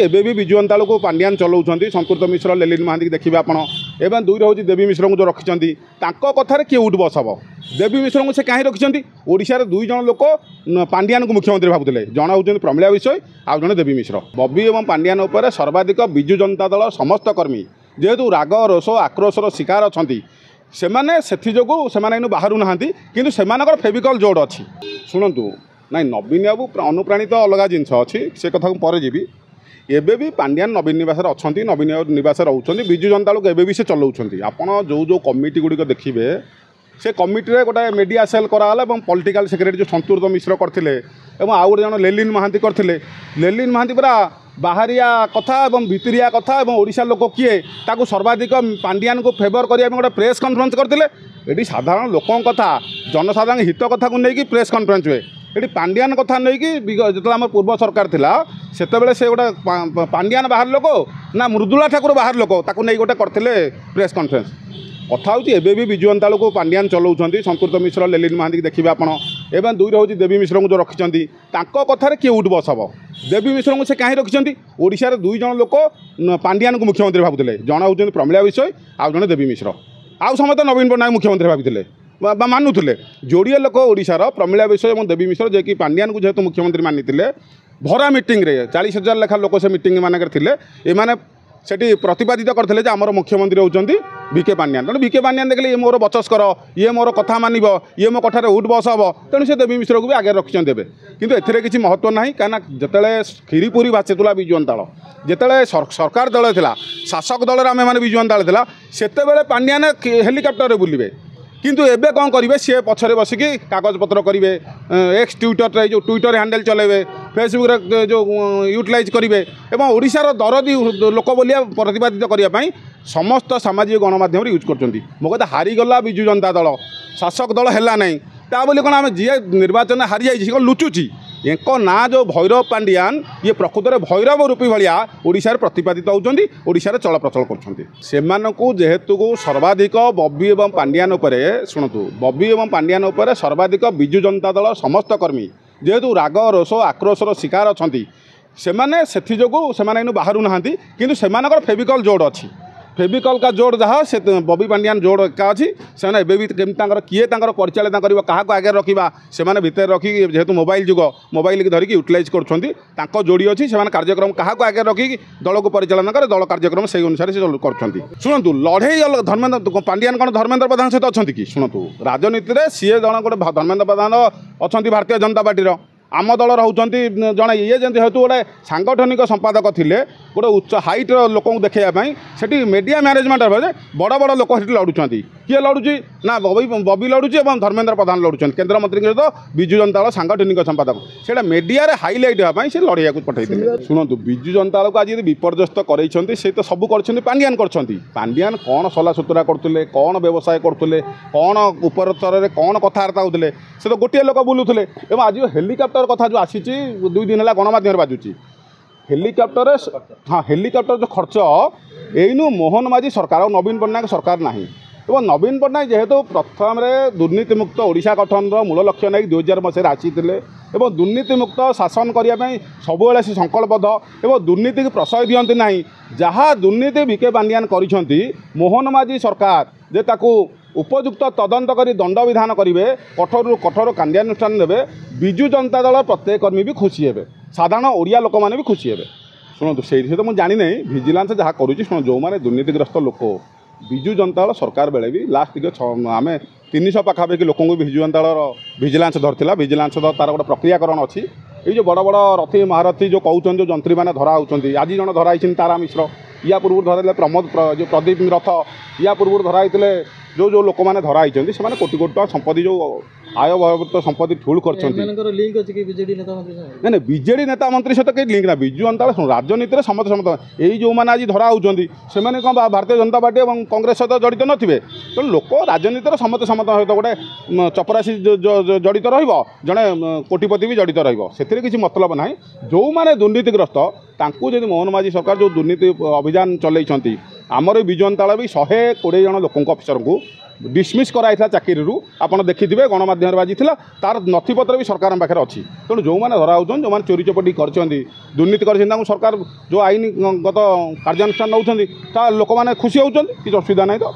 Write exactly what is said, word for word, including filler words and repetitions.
ଏବେ ବି ବିଜୁ ଜନତା ଦଳକୁ ପାଣ୍ଡିଆନ ଚଲାଉଛନ୍ତି। ସଂକୃତ ମିଶ୍ର, ଲେଲିନ ମହାନ୍ତିକି ଦେଖିବେ ଆପଣ, ଏବଂ ଦୁଇରେ ହେଉଛି ଦେବୀ ମିଶ୍ରଙ୍କୁ ଯେଉଁ ରଖିଛନ୍ତି, ତାଙ୍କ କଥାରେ କିଏ ଉଠ ବସ ହେବ? ଦେବୀ ମିଶ୍ରଙ୍କୁ ସେ କାହିଁ ରଖିଛନ୍ତି? ଓଡ଼ିଶାରେ ଦୁଇ ଜଣ ଲୋକ ପାଣ୍ଡିଆନକୁ ମୁଖ୍ୟମନ୍ତ୍ରୀ ଭାବୁଥିଲେ, ଜଣେ ହେଉଛନ୍ତି ପ୍ରମିଳା ବିଷୋୟୀ, ଆଉ ଜଣେ ଦେବୀ ମିଶ୍ର। ବବି ଏବଂ ପାଣ୍ଡିଆନ ଉପରେ ସର୍ବାଧିକ ବିଜୁ ଜନତା ଦଳ ସମସ୍ତ କର୍ମୀ ଯେହେତୁ ରାଗ, ରୋଷ, ଆକ୍ରୋଶର ଶିକାର ଅଛନ୍ତି ସେମାନେ, ସେଥିଯୋଗୁଁ ସେମାନେ ଏଇନୁ ବାହାରୁ ନାହାନ୍ତି। କିନ୍ତୁ ସେମାନଙ୍କର ଫେବିକଲ୍ ଯୋଡ଼ ଅଛି। ଶୁଣନ୍ତୁ, ନାଇଁ, ନବୀନ ବାବୁ ଅନୁପ୍ରାଣିତ ଅଲଗା ଜିନିଷ ଅଛି, ସେ କଥାକୁ ପରେ ଯିବି। ଏବେ ବି ପାଣ୍ଡିଆନ ନବୀନ ନିବାସରେ ଅଛନ୍ତି, ନବୀନ ନିବାସରେ ରହୁଛନ୍ତି। ବିଜୁ ଜନତା ଦଳକୁ ଏବେ ବି ସେ ଚଲାଉଛନ୍ତି। ଆପଣ ଯେଉଁ ଯେଉଁ କମିଟି ଗୁଡ଼ିକ ଦେଖିବେ, ସେ କମିଟିରେ ଗୋଟେ ମିଡ଼ିଆ ସେଲ୍ କରାଗଲା ଏବଂ ପଲିଟିକାଲ ସେକ୍ରେଟାରୀ ଯେଉଁ ସନ୍ତୁର୍ତ ମିଶ୍ର କରିଥିଲେ ଏବଂ ଆଉ ଗୋଟେ ଜଣ ଲେଲିନ ମହାନ୍ତି କରିଥିଲେ। ଲେଲିନ ମହାନ୍ତି ପୁରା ବାହାରିଆ କଥା ଏବଂ ଭିତିରିଆ କଥା ଏବଂ ଓଡ଼ିଶା ଲୋକ କିଏ ତାକୁ ସର୍ବାଧିକ ପାଣ୍ଡିଆନକୁ ଫେଭର କରିବା ପାଇଁ ଗୋଟେ ପ୍ରେସ୍ କନଫରେନ୍ସ କରିଥିଲେ। ଏଠି ସାଧାରଣ ଲୋକଙ୍କ କଥା, ଜନସାଧାରଣ ହିତ କଥାକୁ ନେଇକି ପ୍ରେସ୍ କନଫରେନ୍ସ ହୁଏ। ଏଠି ପାଣ୍ଡିଆନ କଥା ନେଇକି, ଯେତେବେଳେ ଆମର ପୂର୍ବ ସରକାର ଥିଲା ସେତେବେଳେ ସେ ଗୋଟେ ପାଣ୍ଡିଆନ ବାହାର ଲୋକ ନା ମୃଦୁଳା ଠାକୁର ବାହାର ଲୋକ, ତାକୁ ନେଇ ଗୋଟେ କରିଥିଲେ ପ୍ରେସ୍ କନଫରେନ୍ସ। କଥା ହେଉଛି ଏବେ ବି ବିଜୁ ଜନତା ଦଳକୁ ପାଣ୍ଡିଆନ ଚଲାଉଛନ୍ତି। ସଂକୃତ ମିଶ୍ର, ଲେଲିନ ମହାନ୍ତିକି ଦେଖିବେ ଆପଣ, ଏବଂ ଦୁଇରେ ହେଉଛି ଦେବୀ ମିଶ୍ରଙ୍କୁ ଯେଉଁ ରଖିଛନ୍ତି, ତାଙ୍କ କଥାରେ କିଏ ଉଠ ବସ ହେବ? ଦେବୀ ମିଶ୍ରଙ୍କୁ ସେ କାହିଁ ରଖିଛନ୍ତି? ଓଡ଼ିଶାରେ ଦୁଇ ଜଣ ଲୋକ ପାଣ୍ଡିଆନକୁ ମୁଖ୍ୟମନ୍ତ୍ରୀ ଭାବୁଥିଲେ, ଜଣେ ହେଉଛନ୍ତି ପ୍ରମିଳା ବିଷୋୟୀ, ଆଉ ଜଣେ ଦେବୀ ମିଶ୍ର। ଆଉ ସମସ୍ତେ ନବୀନ ପଟ୍ଟନାୟକ ମୁଖ୍ୟମନ୍ତ୍ରୀ ଭାବିଥିଲେ ବା ମାନୁଥିଲେ। ଯୋଡ଼ିଏ ଲୋକ ଓଡ଼ିଶାର, ପ୍ରମିଳା ବିଷୋୟୀ ଏବଂ ଦେବୀ ମିଶ୍ର, ଯିଏକି ପାଣ୍ଡିଆନକୁ ଯେହେତୁ ମୁଖ୍ୟମନ୍ତ୍ରୀ ମାନିଥିଲେ, ଭରା ମିଟିଂରେ ଚାଳିଶ ହଜାର ଲେଖା ଲୋକ ସେ ମିଟିଂ ମାନଙ୍କରେ ଥିଲେ। ଏମାନେ ସେଠି ପ୍ରତିପାଦିତ କରିଥିଲେ ଯେ ଆମର ମୁଖ୍ୟମନ୍ତ୍ରୀ ହେଉଛନ୍ତି ଭି କେ ପାଣ୍ଡିଆନ। ତେଣୁ ଭି କେ ପାଣ୍ଡିଆନ ଦେଖିଲେ ଇଏ ମୋର ବଚସ୍କର, ଇଏ ମୋର କଥା ମାନିବ, ଇଏ ମୋ କଥାରେ ଉଠ ବସ ହେବ, ତେଣୁ ସେ ଦେବୀ ମିଶ୍ରକୁ ବି ଆଗରେ ରଖିଛନ୍ତି ଏବେ। କିନ୍ତୁ ଏଥିରେ କିଛି ମହତ୍ତ୍ୱ ନାହିଁ, କାହିଁକିନା ଯେତେବେଳେ କ୍ଷୀରି ପୁରୀ ଭାସିଥିଲା ବିଜୁ ଜନତା ଦଳ, ଯେତେବେଳେ ସରକାର ଦଳ ଥିଲା, ଶାସକ ଦଳରେ ଆମେମାନେ ବିଜୁ ଜନତା ଦଳ ଥିଲା, ସେତେବେଳେ ପାଣ୍ଡିଆନ ହେଲିକପ୍ଟରରେ ବୁଲିବେ। କିନ୍ତୁ ଏବେ କ'ଣ କରିବେ? ସିଏ ପଛରେ ବସିକି କାଗଜପତ୍ର କରିବେ, ଏକ୍ସ ଟ୍ୱିଟରରେ ଯେଉଁ ଟ୍ୱିଟର ହ୍ୟାଣ୍ଡେଲ୍ ଚଲାଇବେ, ଫେସବୁକ୍ରେ ଯେଉଁ ୟୁଟିଲାଇଜ୍ କରିବେ ଏବଂ ଓଡ଼ିଶାର ଦରଦୀ ଲୋକ ବୋଲିଆ ପ୍ରତିପାଦିତ କରିବା ପାଇଁ ସମସ୍ତ ସାମାଜିକ ଗଣମାଧ୍ୟମରେ ୟୁଜ୍ କରୁଛନ୍ତି। ମୋ କଥା, ହାରିଗଲା ବିଜୁ ଜନତା ଦଳ, ଶାସକ ଦଳ ହେଲା ନାହିଁ, ତା ବୋଲି କ'ଣ ଆମେ ଯିଏ ନିର୍ବାଚନରେ ହାରିଯାଇଛି ସେ କ'ଣ ଲୁଚୁଛି? ଏଙ୍କ ନାଁ ଯେଉଁ ଭୈରବ ପାଣ୍ଡିଆନ, ଇଏ ପ୍ରକୃତରେ ଭୈରବ ରୂପୀ ଭଳିଆ ଓଡ଼ିଶାରେ ପ୍ରତିପାଦିତ ହେଉଛନ୍ତି, ଓଡ଼ିଶାରେ ଚଳପ୍ରଚଳ କରୁଛନ୍ତି। ସେମାନଙ୍କୁ ଯେହେତୁ ସର୍ବାଧିକ ବବି ଏବଂ ପାଣ୍ଡିଆନ ଉପରେ, ଶୁଣନ୍ତୁ, ବବି ଏବଂ ପାଣ୍ଡିଆନ ଉପରେ ସର୍ବାଧିକ ବିଜୁ ଜନତା ଦଳ ସମସ୍ତ କର୍ମୀ ଯେହେତୁ ରାଗ, ରୋଷ, ଆକ୍ରୋଶର ଶିକାର ଅଛନ୍ତି ସେମାନେ, ସେଥିଯୋଗୁଁ ସେମାନେ ଏଇନୁ ବାହାରୁ ନାହାନ୍ତି। କିନ୍ତୁ ସେମାନଙ୍କର ଫେବିକଲ୍ ଯୋଡ଼ ଅଛି। ଫେବିକଲ୍ କା ଯୋଡ଼ ଯାହା, ସେ ବବି ପାଣ୍ଡିଆନ ଯୋଡ଼ ଏକା ଅଛି। ସେମାନେ ଏବେ ବି କେମିତି ତାଙ୍କର କିଏ ତାଙ୍କର ପରିଚାଳନା କରିବ, କାହାକୁ ଆଗରେ ରଖିବା, ସେମାନେ ଭିତରେ ରଖିକି, ଯେହେତୁ ମୋବାଇଲ ଯୁଗ, ମୋବାଇଲକି ଧରିକି ୟୁଟିଲାଇଜ୍ କରୁଛନ୍ତି। ତାଙ୍କ ଯୋଡ଼ି ଅଛି। ସେମାନେ କାର୍ଯ୍ୟକ୍ରମ କାହାକୁ ଆଗରେ ରଖିକି ଦଳକୁ ପରିଚାଳନା କରେ, ଦଳ କାର୍ଯ୍ୟକ୍ରମ ସେଇ ଅନୁସାରେ ସେ କରୁଛନ୍ତି। ଶୁଣନ୍ତୁ, ଲଢ଼େଇ ଧର୍ମେନ୍ଦ୍ର ପାଣ୍ଡିଆନ କ'ଣ ଧର୍ମେନ୍ଦ୍ର ପ୍ରଧାନ ସହିତ ଅଛନ୍ତି କି? ଶୁଣନ୍ତୁ, ରାଜନୀତିରେ ସିଏ ଜଣ ଗୋଟେ ଧର୍ମେନ୍ଦ୍ର ପ୍ରଧାନ ଅଛନ୍ତି ଭାରତୀୟ ଜନତା ପାର୍ଟିର, ଆମ ଦଳ ରହୁଛନ୍ତି ଜଣେ। ଇଏ ଯେମିତି ଯେହେତୁ ଗୋଟେ ସାଙ୍ଗଠନିକ ସମ୍ପାଦକ ଥିଲେ, ଗୋଟେ ଉଚ୍ଚ ହାଇଟ୍ର ଲୋକଙ୍କୁ ଦେଖାଇବା ପାଇଁ ସେଠି ମିଡ଼ିଆ ମ୍ୟାନେଜମେଣ୍ଟ ହେବ ଯେ ବଡ଼ ବଡ଼ ଲୋକ ସେଠି ଲଢ଼ୁଛନ୍ତି। କିଏ ଲଢ଼ୁଛି ନା ବବି ବବି ଲଢ଼ୁଛି ଏବଂ ଧର୍ମେନ୍ଦ୍ର ପ୍ରଧାନ ଲଢ଼ୁଛନ୍ତି କେନ୍ଦ୍ରମନ୍ତ୍ରୀଙ୍କ ସହିତ, ବିଜୁ ଜନତା ଦଳ ସାଙ୍ଗଠନିକ ସମ୍ପାଦକ। ସେଇଟା ମିଡ଼ିଆରେ ହାଇଲାଇଟ୍ ହେବା ପାଇଁ ସେ ଲଢ଼େଇବାକୁ ପଠାଇଥିଲେ। ଶୁଣନ୍ତୁ, ବିଜୁ ଜନତା ଦଳକୁ ଆଜି ଯଦି ବିପର୍ଯ୍ୟସ୍ତ କରେଇଛନ୍ତି, ସେ ତ ସବୁ କରିଛନ୍ତି, ପାଣ୍ଡିଆନ କରିଛନ୍ତି। ପାଣ୍ଡିଆନ କ'ଣ ସଲାସୁତୁରା କରୁଥିଲେ, କ'ଣ ବ୍ୟବସାୟ କରୁଥିଲେ, କ'ଣ ଉପର ସ୍ତରରେ କ'ଣ କଥାବାର୍ତ୍ତା ହେଉଥିଲେ, ସେ ତ ଗୋଟିଏ ଲୋକ ବୁଲୁଥିଲେ। ଏବଂ ଆଜି ହେଲିକପ୍ଟର କଥା ଯେଉଁ ଆସିଛି, ଦୁଇ ଦିନ ହେଲା ଗଣମାଧ୍ୟମରେ ବାଜୁଛି ହେଲିକପ୍ଟରରେ, ହଁ, ହେଲିକପ୍ଟର ଯେଉଁ ଖର୍ଚ୍ଚ, ଏଇନୁ ମୋହନ ମାଝୀ ସରକାର ଆଉ ନବୀନ ପଟ୍ଟନାୟକ ସରକାର ନାହିଁ। ଏବଂ ନବୀନ ପଟ୍ଟନାୟକ ଯେହେତୁ ପ୍ରଥମରେ ଦୁର୍ନୀତିମୁକ୍ତ ଓଡ଼ିଶା ଗଠନର ମୂଳ ଲକ୍ଷ୍ୟ ନେଇ ଦୁଇ ହଜାର ମସିହାରେ ଆସିଥିଲେ ଏବଂ ଦୁର୍ନୀତିମୁକ୍ତ ଶାସନ କରିବା ପାଇଁ ସବୁବେଳେ ସେ ସଂକଳ୍ପବଦ୍ଧ ଏବଂ ଦୁର୍ନୀତିକୁ ପ୍ରଶୟ ଦିଅନ୍ତି ନାହିଁ। ଯାହା ଦୁର୍ନୀତି ଭି କେ ପାଣ୍ଡିଆନ କରିଛନ୍ତି, ମୋହନ ମାଝୀ ସରକାର ଯେ ତାକୁ ଉପଯୁକ୍ତ ତଦନ୍ତ କରି ଦଣ୍ଡବିଧାନ କରିବେ, କଠୋରରୁ କଠୋର କାର୍ଯ୍ୟାନୁଷ୍ଠାନ ନେବେ, ବିଜୁ ଜନତା ଦଳ ପ୍ରତ୍ୟେକ କର୍ମୀ ବି ଖୁସି ହେବେ, ସାଧାରଣ ଓଡ଼ିଆ ଲୋକମାନେ ବି ଖୁସି ହେବେ। ଶୁଣନ୍ତୁ, ସେଇ ସହିତ ମୁଁ ଜାଣିନାହିଁ ଭିଜିଲାନ୍ସ ଯାହା କରୁଛି। ଶୁଣ, ଯେଉଁମାନେ ଦୁର୍ନୀତିଗ୍ରସ୍ତ ଲୋକ, ବିଜୁ ଜନତା ଦଳ ସରକାର ବେଳେ ବି ଲାଷ୍ଟ ଟିକେ ଆମେ ତିନିଶହ ପାଖାପାଖି ଲୋକଙ୍କୁ ବିଜୁ ଜନତା ଦଳର ଭିଜିଲାନ୍ସ ଧରିଥିଲା। ଭିଜିଲାନ୍ସ ତାର ଗୋଟେ ପ୍ରକ୍ରିୟାକରଣ ଅଛି। ଏଇ ଯେଉଁ ବଡ଼ ବଡ଼ ରଥୀ ମହାରଥୀ ଯେଉଁ କହୁଛନ୍ତି, ଯେଉଁ ଯନ୍ତ୍ରୀମାନେ ଧରା ହେଉଛନ୍ତି, ଆଜି ଜଣେ ଧରା ହେଇଛନ୍ତି ତାରା ମିଶ୍ର, ୟା ପୂର୍ବରୁ ଧରାଇଥିଲେ ପ୍ରମୋଦ ଯେଉଁ ପ୍ରଦୀପ ରଥ, ୟା ପୂର୍ବରୁ ଧରା ହେଇଥିଲେ। ଯେଉଁ ଯେଉଁ ଲୋକମାନେ ଧରା ହେଇଛନ୍ତି, ସେମାନେ କୋଟି କୋଟି ଟଙ୍କା ସମ୍ପତ୍ତି, ଯେଉଁ ଆୟ ବହିର୍ଭୂତ ସମ୍ପତ୍ତି ଠୁଳ କରିଛନ୍ତି। ନାଇଁ ନାଇଁ, ବିଜେଡ଼ି ନେତା ମନ୍ତ୍ରୀ ସହିତ କେହି ଲିଙ୍କ ନା। ବିଜୁ ଜନତା ଦଳ ରାଜନୀତିରେ ସମସ୍ତେ ସମସ୍ତେ। ଏଇ ଯେଉଁମାନେ ଆଜି ଧରା ହେଉଛନ୍ତି, ସେମାନେ କ'ଣ ଭାରତୀୟ ଜନତା ପାର୍ଟି ଏବଂ କଂଗ୍ରେସ ସହିତ ଜଡ଼ିତ ନଥିବେ? ତେଣୁ ଲୋକ ରାଜନୀତିରେ ସମସ୍ତେ ସମସ୍ତଙ୍କ ସହିତ, ଗୋଟେ ଚପରାଶି ଜଡ଼ିତ ରହିବ, ଜଣେ କୋଟିପତି ବି ଜଡ଼ିତ ରହିବ, ସେଥିରେ କିଛି ମତଲବ ନାହିଁ। ଯେଉଁମାନେ ଦୁର୍ନୀତିଗ୍ରସ୍ତ, ତାଙ୍କୁ ଯଦି ମୋହନ ମାଝୀ ସରକାର ଯେଉଁ ଦୁର୍ନୀତି ଅଭିଯାନ ଚଲେଇଛନ୍ତି, ଆମର ବିଜୁ ଜନତା ଦଳ ବି ଶହେ କୋଡ଼ିଏ ଜଣ ଲୋକଙ୍କ ଅଫିସରଙ୍କୁ ଡିସମିସ୍ କରାଯାଇଥିଲା ଚାକିରିରୁ ଆପଣ ଦେଖିଥିବେ ଗଣମାଧ୍ୟମରେ ବାଜିଥିଲା ତାର ନଥିପତ୍ର ବି ସରକାରଙ୍କ ପାଖରେ ଅଛି ତେଣୁ ଯେଉଁମାନେ ଧରା ହେଉଛନ୍ତି ଯେଉଁମାନେ ଚୋରି ଚପଟି କରିଛନ୍ତି ଦୁର୍ନୀତି କରିଛନ୍ତି ତାଙ୍କୁ ସରକାର ଯେଉଁ ଆଇନଗତ କାର୍ଯ୍ୟାନୁଷ୍ଠାନ ନେଉଛନ୍ତି ତା ଲୋକମାନେ ଖୁସି ହେଉଛନ୍ତି କିଛି ଅସୁବିଧା ନାହିଁ ତ।